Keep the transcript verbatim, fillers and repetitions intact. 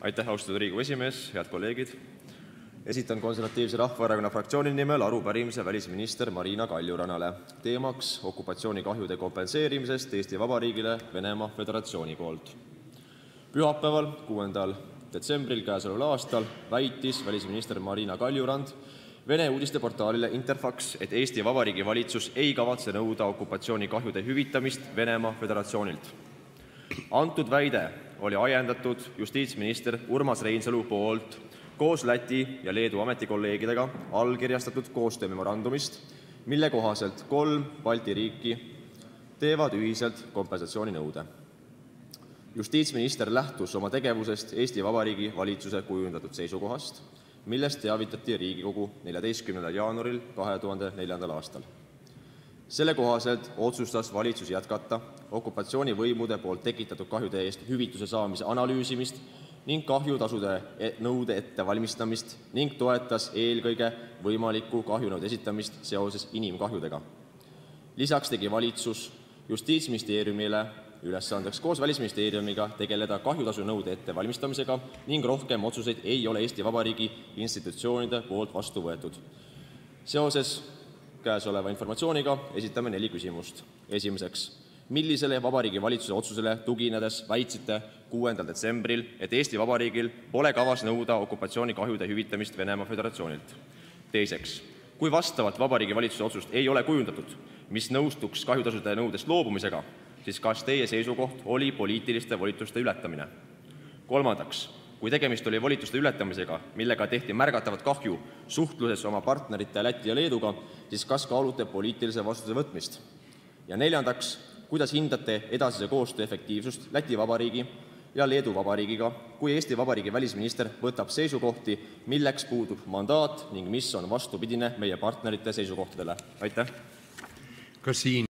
Aitäh, austatud Riigikogu esimees, head kolleegid. Esitan Konservatiivse Rahvaerakonna fraktsiooni nimel arupärimise välisminister Marina Kaljurannale. Teemaks okupatsioonikahjude kompenseerimisest Eesti Vabariigile Venemaa Föderatsiooni poolt. Pühapäeval, kuuendal detsembril käesoleval aastal väitis välisminister Marina Kaljurand Vene uudisteportaalile Interfax, et Eesti Vabariigi valitsus ei kavatse nõuda okupatsioonikahjude hüvitamist Venemaa Föderatsioonilt. Antud väide oli ajendatud justiitsminister Urmas Reinsalu poolt koos Läti ja Leedu ametikolleegidega allkirjastatud koostöömemorandumist, mille kohaselt kolm Balti riiki teevad ühiselt kompensatsiooninõude. Justiitsminister lähtus oma tegevusest Eesti Vabariigi valitsuse kujundatud seisukohast, millest teavitati Riigikogu neljateistkümnendal jaanuaril kahe tuhande neljandal aastal. Selle kohaselt otsustas valitsus jätkata okupatsioonivõimude poolt tekitatud kahjude eest hüvituse saamise analüüsimist ning kahjutasude nõude ettevalmistamist ning toetas eelkõige võimaliku kahjunõude esitamist seoses inimkahjudega. Lisaks tegi valitsus Justiitsministeeriumile ülesandeks koos Välisministeeriumiga tegeleda kahjutasu nõude ettevalmistamisega ning rohkem otsuseid ei ole Eesti Vabariigi institutsioonide poolt vastu võetud. Seoses käesoleva informatsiooniga esitame neli küsimust. Esimeseks, millisele Vabariigi valitsuse otsusele tuginedes väitsite kuuendal detsembril, et Eesti Vabariigil pole kavas nõuda okupatsioonikahjude hüvitamist Venemaa Föderatsioonilt? Teiseks, kui vastavalt Vabariigi valitsuse otsust ei ole kujundatud, mis nõustuks kahjutasude nõudest loobumisega, siis kas teie seisukoht oli poliitiliste volituste ületamine? Kolmandaks, kui tegemist oli volituste ületamisega, millega tehti märgatavat kahju suhtluses oma partnerite Läti ja Leeduga, siis kas kaalute poliitilise vastutuse võtmist? Ja neljandaks, kuidas hindate edasise koostöö efektiivsust Läti Vabariigi ja Leedu Vabariigiga, kui Eesti Vabariigi välisminister võtab seisukohti, milleks puudub mandaat ning mis on vastupidine meie partnerite seisukohtadele? Aitäh! Kas siin